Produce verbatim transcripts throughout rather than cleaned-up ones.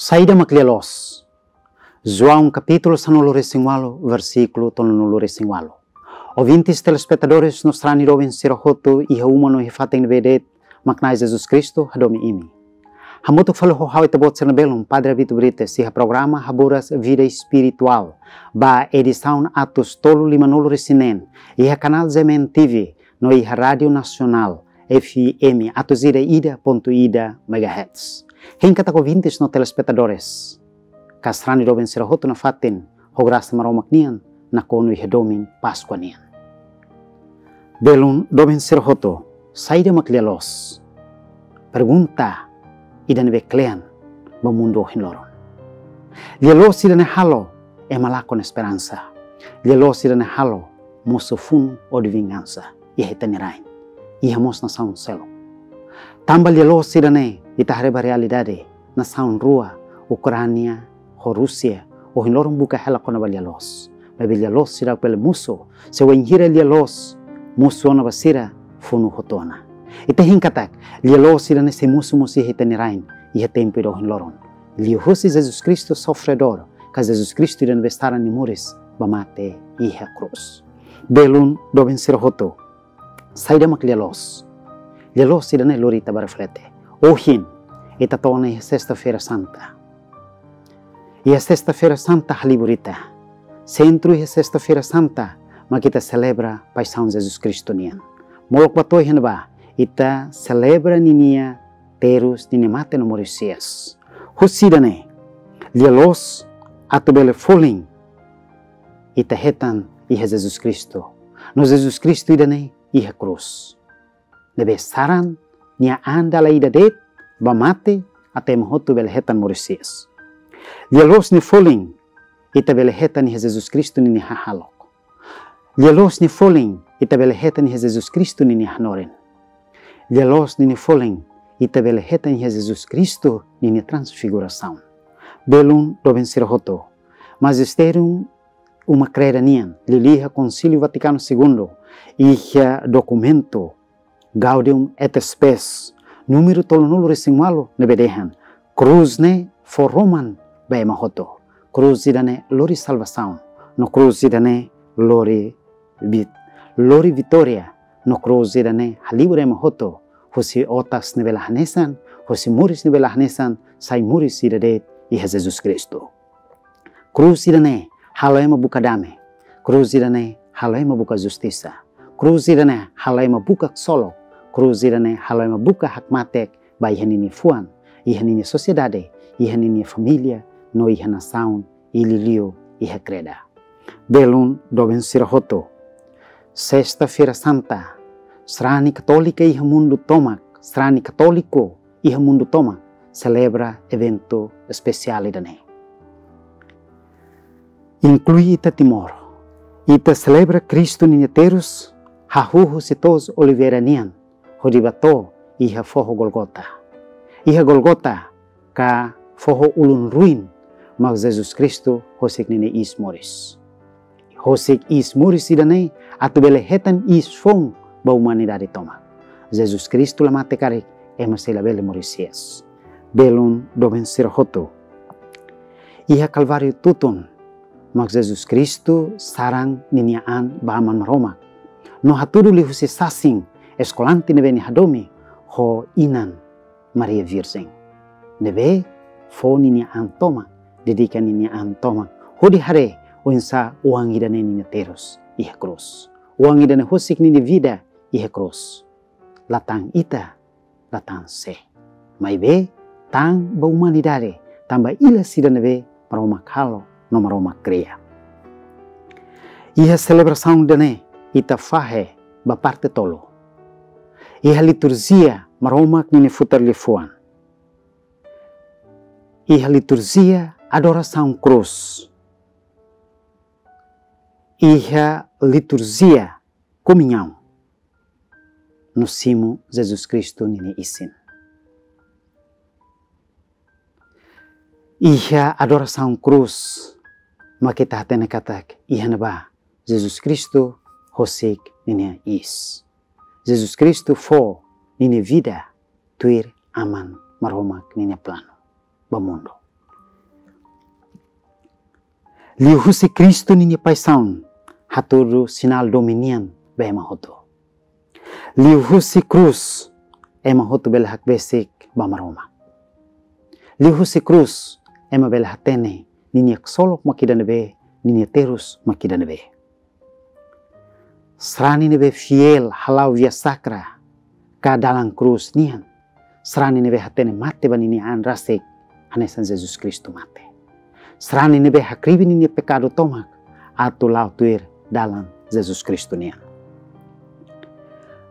Saida mak lia-loos? João kapítulu sanulu-resin-ualu, versíkulu tolunulu-resin-ualu. Ouvintes, telespetadores no sarani doben sira hotu iha uma no iha fatin ne'ebé de'it, mak Na'i Jesus Kristu hadomi imi. Hamutuk fali ho ha'u ita-boot sira-nia belun, Padre Vito Brites, iha programa Haburas Vida Espiritual, ba edisaun atus tolu limanulu-resin-neen, iha kanál G M N T V, no iha Rádiu Nasionál, F M atus ida ida pontu ida megahertz. Hein katak ouvintes no telespetadores, ka sarani doben sira hotu nafatin, ho grasa Maromak nian, nakonu iha domin Páskua nian. Belun doben sira hotu, saida mak lia-loos? Pergunta ida ne'ebé kle'an ba mundu ohin loron. Lia-loos ida-ne'e halo ema lakon esperansa. Lia-loos ida-ne'e halo mosu funu hodi vingansa iha ita-nia rain, iha mós nasaun seluk. Tanba lia-loos ida-ne'e, ita haree ba realidade, nasaun rua, Ukránia ho Rúsia, ohin loron buka hela kona-ba lia-loos. Maibé lia-loos seidauk bele mosu, se wainhira lia-loos mosu ona ba sira, funu hotu ona. Ita hein katak, lia-loos ida-ne'e sei mosu mós iha ita-nia rain, iha tempu ida ohin loron. Liuhusi Jesus Kristu sofredór, ka Jesus Kristu ida ne'ebé saran nia moris ba mate iha krús. Belun doben sira hotu, saida mak lia-loos? Lia-loos ida-ne'e lori ita ba reflete. Ohin, ita to'o ona iha Sesta-feira Santa. Iha Sesta-feira Santa halibur ita. Sentru iha Sesta-feira Santa, mak ita selebra paixaun Jesus Kristu nian. Molok ba to'o iha ne'ebá, ita selebra ninia terus, ninia mate no moris hi'as. Husi ida-ne'e, lia-loos atu bele folin, ita hetan iha Jesus Kristu. No Jesus Kristu ida-ne'e iha krús, ne'ebé saran nia an dala ida de'it ba mate, atu ema hotu bele hetan moris hi'as. Lia-loos nia folin, ita bele hetan iha Jesus Kristu ninia hahalok. Lia-loos nia folin, ita bele hetan iha Jesus Kristu ninia hanorin. Lia-loos ninia folin, ita bele hetan iha Jesus Kristu ninia transfigurasaun. Belun doben sira hotu, Majisterium Uma Kreda nian, liuliu iha Konsíliu Vatikanu Segundu, iha dokumentu Gaudium et Spes, númeru tolunulu-resin-ualu, ne'ebé dehan: Krús ne'e fó roman ba ema hotu. Krús ida-ne'e lori salvasaun, no krús ida-ne'e lori vit-, lori vitória, no krús ida-ne'e halibur ema hotu husi otas ne'ebé la hanesan, husi moris ne'ebé la hanesan, sai moris ida de'it iha Jesus Kristu. Krús ida-ne'e halo ema buka dame. Krús ida-ne'e halo ema buka justisa. Krús ida-ne'e halo ema buka ksolok. Krús ida-ne'e halo ema buka hakmatek ba iha ninia fuan, iha ninia sosiedade, iha ninia família, no iha nasaun, i liuliu iha kreda. Belun doben sira hotu, Sesta-feira Santa, sarani katólika iha mundu tomak, sarani katóliku iha mundu tomak selebra eventu espesiál ida-ne'e. Inklui ita Timor. Ita selebra Kristu ninia terus, hahú husi to'os Oliveira nian, hodi ba to'o iha foho Golgota. Iha Golgota, ka foho ulun ruin, mak Jesus Kristu husik ninia iis moris. Husik iis moris ida-ne'e atu bele hetan iis foun ba umanidade tomak. Jesus Kristu la mate karik, ema sei labele moris hi'as. Belun doben sira hotu, iha Kalváriu tutun, mak Jesus Kristu saran ninia an ba Aman Maromak, no hatudu liuhusi sasin eskolante ne'ebé nia hadomi ho inan Maria Virjen, ne'ebé fó ninia an tomak, dedika ninia an tomak, hodi haree oinsá oan ida-ne'e ninia terus iha krús. Oan ida-ne'e husik ninia vida iha krús. La tan ita, la tan sé. Maibé tan ba umanidade, tan ba ilas ida ne'ebé Maromak halo no Maromak kria. Iha selebrasaun ida-ne'e ita fahe ba parte tolu. Iha liturjia Maromak ninia futar liafuan. Iha liturjia adorasaun krús. Iha liturjia komuñaun no simu Jesus Kristu ninia isin. Iha adorasaun krús, mak ita hatene katak iha ne'ebá Jesus Kristu husik ninia iis. Jesus Kristu fó ninia vida tuir Aman Maromak ninia planu ba mundu. Liuhusi Kristu ninia paixaun hatudu sinál domin nian ba ema hotu. Liuhusi krús ema hotu bele hakbesik ba Maromak. Liuhusi krús ema bele hatene ninia ksolok mak ida-ne'ebé, ninia terus mak ida-ne'ebé. Sarani ne'ebé fiél hala'o via sakra ka dalan krús nian, sarani ne'ebé hatene mate ba ninia an rasik hanesan Jesus Kristu mate. Sarani ne'ebé hakribi ninia pekadu tomak atu la'o tuir dalan Jesus Kristu nian.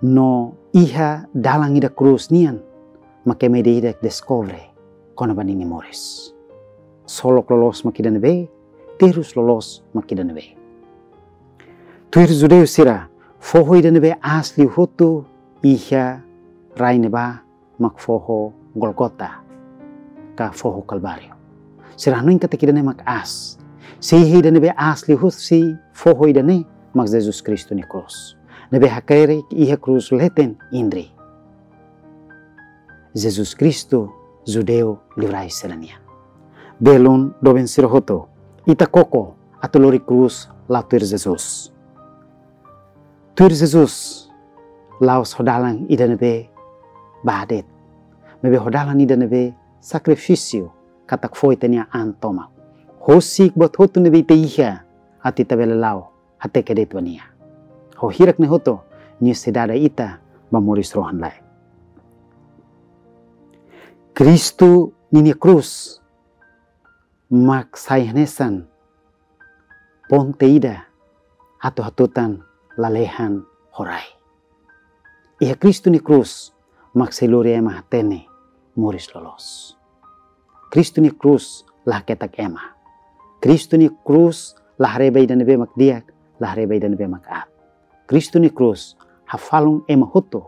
No iha dalan ida krús nian mak ema ida-idak deskobre kona-ba ninia moris. Ksolok loloos mak ida-ne'ebé, terus loloos mak ida-ne'ebé. Tuir judeu sira, foho ida-ne'ebé aas liu hotu iha rai ne'ebá mak foho Golgota ka foho Kalváriu. Sira hanoin katak ida-ne'e mak aas. Se iha ida-ne'ebé aas liuhusi foho ida-ne'e mak Jesus Kristu nia krús, ne'ebé hakerek iha krús leten Inri. Jesus Kristu, judeu liurai sira-nian. Belun doben sira hotu, ita koko atu lori krús la'o tuir Jesus. Tuir Jesus, la'ós ho dalan ida-ne'ebé ba de'it, maibé ho dalan ida-ne'ebé sakrifísiu, katak fó ita-nia an tomak. Husik buat hotu ne'ebé ita iha atu ita bele la'o hateke de'it ba nia. Ho hirak ne'e hotu, nia sei dada ita ba moris rohan-laek. Kristu ninia krús mak sai hanesan ponte ida atu hatutan lalehan ho rai. Iha Kristu nia krús mak sei lori ema hatene moris loloos. Kristu nia krús la haketak ema. Kristu nia krús la haree ba ida-ne'ebé mak di'ak, la haree ba ida-ne'ebé mak aat. Kristu nia krús hafalun ema hotu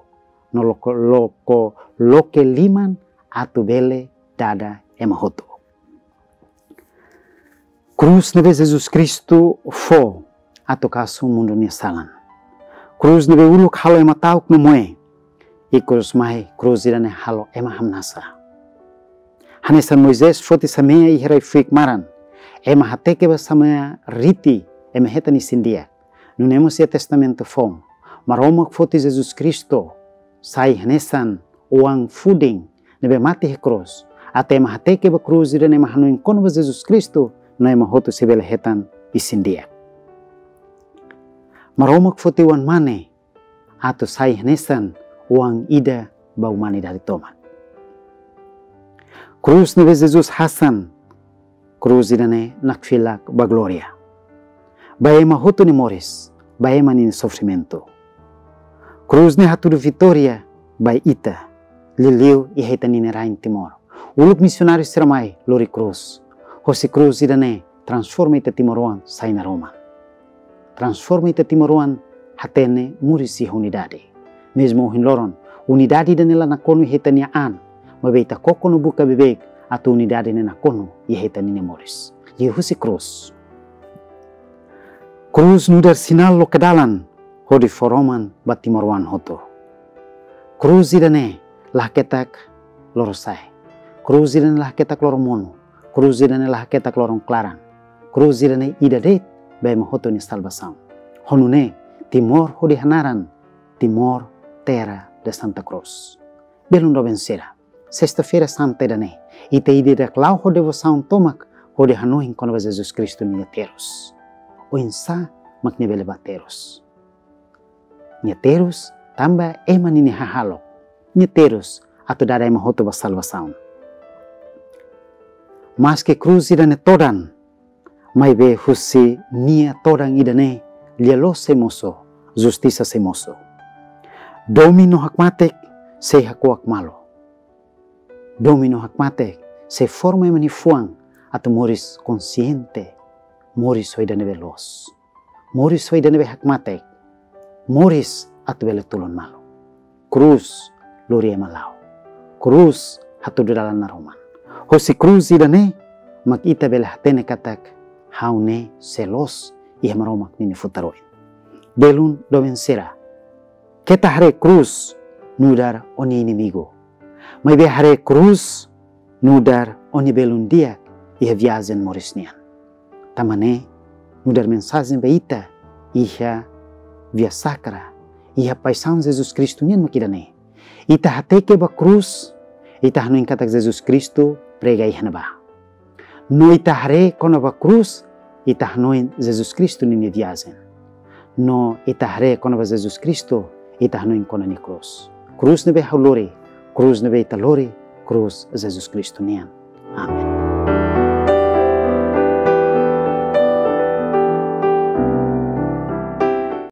no loko, loko, loke liman atu bele dada ema hotu. Krús ne'ebé Jesus Kristu fó atu kasu mundu nia salan. Krús ne'ebé uluk halo ema ta'uk no moe, ikus mai krús ida-ne'e halo ema hamnasa. Hanesan Moisés foti samea iha rai-fuik maran, ema hateke ba samea riti ema hetan isin-di'ak. Nune'e mós iha Testamentu Foun, Maromak foti Jesus Kristu sai hanesan oan fudin ne'ebé mate iha krús, atu ema hateke ba krús ida-ne'e ema hanoin kona-ba Jesus Kristu, no ema hotu sei bele hetan isin-di'ak. Maromak foti Oan-Mane atu sai hanesan oan ida ba umanidade tomak. Krús ne'ebé Jesus hasan, krús ida-ne'e nakfilak ba glória, ba ema hotu nia moris, ba ema nia sofrimentu. Krús ne'e hatudu vitória ba ita, liuliu iha ita-nia rain Timor. Uluk misionáriu sira mai lori krús. Hosi krús ida-ne'e transforma ita timoroan sai naroman. Transforma ita timoroan hatene moris iha unidade. Mezmu ohin loron, unidade ida-ne'e la nakonu iha ita-nia an, maibé ita koko no buka beibeik atu unidade ne'e nakonu iha ita-nia moris. Liuhusi krús. Krús nu'udar sinál loke dalan hodi fó roman ba timoroan hotu. Krús ida-ne'e la haketak lorosa'e. Krús ida-ne'e la haketak loromonu. Krús ida-ne'e la haketak loron-klaran. Krús ida-ne'e ida de'it ba ema hotu nia salvasaun. Ho nune'e, Timor hodi hanaran Timor, terra de Santa Cruz. Belun doben sira, Sesta-feira Santa ida-ne'e, ita ida-idak la'o ho devosaun tomak hodi hanoin kona-ba Jesus Kristu nia terus. Oinsá mak nia bele ba terus? Nia terus tanba ema ninia hahalok. Nia terus atu dada ema hotu ba salvasaun. Maske krús ida-ne'e todan, maibé husi nia todan ida-ne'e lia-loos sei mosu, justisa sei mosu. Domin no hakmatek sei hakuak malu. Domin no hakmatek sei forma ema nia fuan atu moris konsiente, moris ho ida-ne'ebé loos, moris ho ida-ne'ebé hakmatek, moris atu bele tulun malu. Krús lori ema la'o. Krús hatudu dalan naroman. Hosi krús ida-ne'e mak ita bele hatene katak ha'u ne'e sei loos iha Maromak ninia futar oin. Belun doben sira, keta haree krús nu'udar ó-nia inimigu, maibé haree krús nu'udar ó-nia belun di'ak iha viajen moris nian. Tanba ne'e, nu'udar mensajen ba ita iha Via Sacra, iha paixaun Jesus Kristu nian mak ida-ne'e. Ita hateke ba krús, ita hanoin katak Jesus Kristu prega iha ne'ebá. No ita haree kona-ba krús, ita hanoin Jesus Kristu ninia viajen. No ita haree kona-ba Jesus Kristu, ita hanoin kona-ba nia krús. Krús ne'ebé ha'u lori, krús ne'ebé ita lori, krús Jesus Kristu nian. Amen.